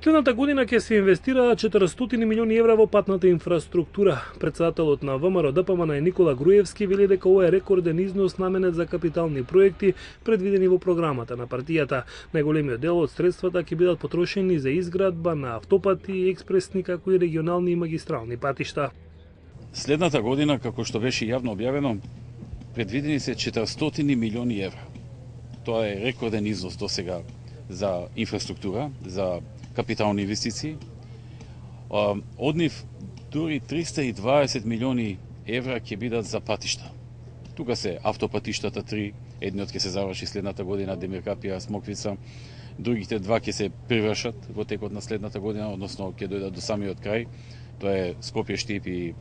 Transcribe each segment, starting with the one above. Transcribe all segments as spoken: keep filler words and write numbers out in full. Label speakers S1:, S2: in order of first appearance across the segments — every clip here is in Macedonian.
S1: Следната година ќе се инвестираат четиристотини милиони евра во патната инфраструктура. Председателот на ВМРО Д П М Н Никола Груевски вели дека ова е рекорден износ наменет за капитални проекти предвидени во програмата на партијата. Најголемиот дел од средствата ќе бидат потрошени за изградба на автопати, експресни како и регионални и магистрални патишта.
S2: Следната година, како што беше јавно објавено, предвидени се четиристотини милиони евра. Тоа е рекорден износ досега за инфраструктура, за капитални инвестиции. Од нив дури триста и дваесет милиони евра ќе бидат за патишта. Тука се автопатиштата три, едниот ќе се заврши следната година, Демир Капија, Смоквица, другите два ќе се привршат во текот на следната година, односно ќе дојдат до самиот крај. Тоа е Скопје Штип и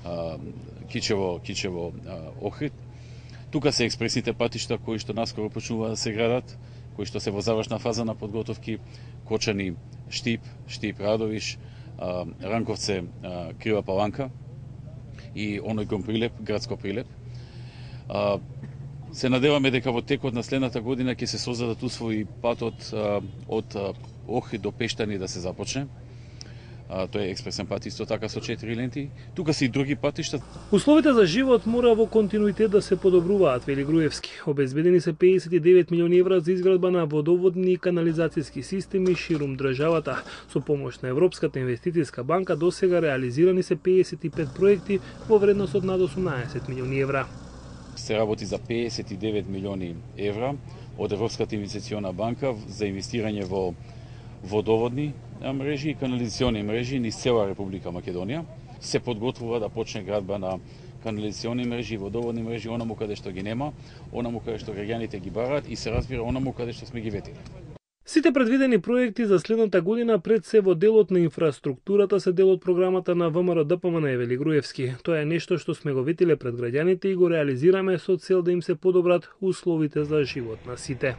S2: а, Кичево, Кичево а, Охрид. Тука се експресните патишта кои што наскоро почнува да се градат, кои што се во завршна фаза на подготовки, Кочани, Штип, Штип Радовиш, Ранковце, Крива Паланка и оној кон Прилеп, градско Прилеп. Се надеваме дека во текот на следната година ќе се создадат услови патот од Охрид до Пештани да се започне. Тој е експресен пат исто така со четири ленти. Тука се и други патишта.
S1: Условите за живот мора во континуитет да се подобруваат, вели Груевски. Обезбедени се педесет и девет милиони евра за изградба на водоводни и канализацијски системи ширум државата. Со помош на Европската инвестицијска банка досега реализирани се педесет и пет проекти во вредност од над осумнаесет милиони евра.
S2: Се работи за педесет и девет милиони евра од Европската инвестицијна банка за инвестирање во водоводни мрежи и канализационни мрежи низ цела Република Македонија. Се подготвува да почне градба на канализационни мрежи и водоводни мрежи онаму каде што ги нема, онаму каде што граѓаните ги бараат и се разбира онаму каде што сме ги ветили.
S1: Сите предвидени проекти за следната година пред се во делот на инфраструктурата се дел од програмата на ВМРО Д П М Н, вели Груевски. Тоа е нешто што сме го ветиле пред граѓаните и го реализираме со цел да им се подобрат условите за живот на сите.